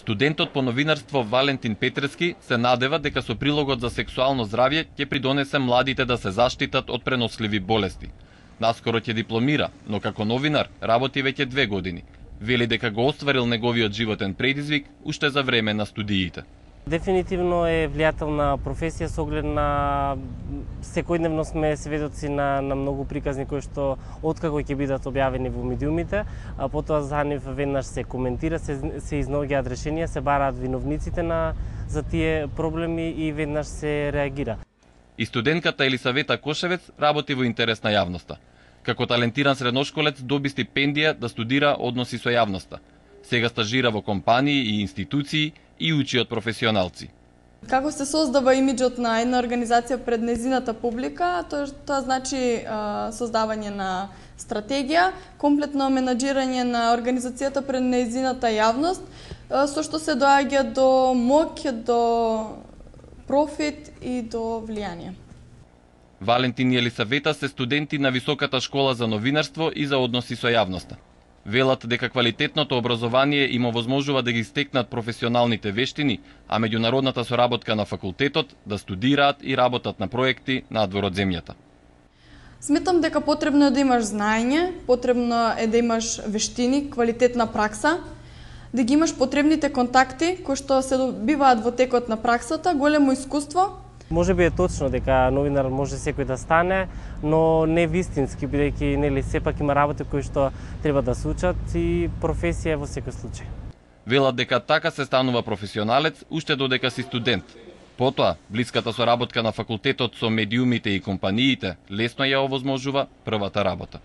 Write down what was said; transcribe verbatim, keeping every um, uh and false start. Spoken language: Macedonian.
Студентот по новинарство Валентин Петрески се надева дека со прилогот за сексуално здравје ќе придонесе младите да се заштитат од преносливи болести. Наскоро ќе дипломира, но како новинар работи веќе две години. Вели дека го остварил неговиот животен предизвик уште за време на студиите. Дефинитивно е влијателна професија со оглед на секојдневно сме сведоци на, на многу приказни кои што откако ќе бидат објавени во медиумите, а потоа за нив веднаш се коментира, се, се изнаоѓаат решенија, се бараат виновниците на за тие проблеми и веднаш се реагира. И студентката Елисавета Кошевец работи во интерес на јавноста. Како талентиран средношколец доби стипендија да студира односи со јавноста. Сега стажира во компании и институции и учи од професионалци. Како се создава имиџот на една организација пред нејзината публика, тоа, тоа значи а, создавање на стратегија, комплетно менаџирање на организацијата пред нејзината јавност, а, со што се доаѓа до моќ, до профит и до влијание. Валентин и Елисавета се студенти на Високата школа за новинарство и за односи со јавноста. Велат дека квалитетното образование им овозможува да ги стекнат професионалните вештини, а меѓународната соработка на факултетот да студираат и работат на проекти надвор од земјата. Сметам дека потребно е да имаш знаење, потребно е да имаш вештини, квалитетна пракса, да ги имаш потребните контакти кои што се добиваат во текот на праксата, големо искуство. Може би е точно дека новинар може секој да стане, но не вистински, бидејќи нели сепак има работи кои што треба да се учат и професија во секој случај. Велат дека така се станува професионалец уште додека си студент. Потоа, блиската соработка на факултетот со медиумите и компаниите лесно ја овозможува првата работа.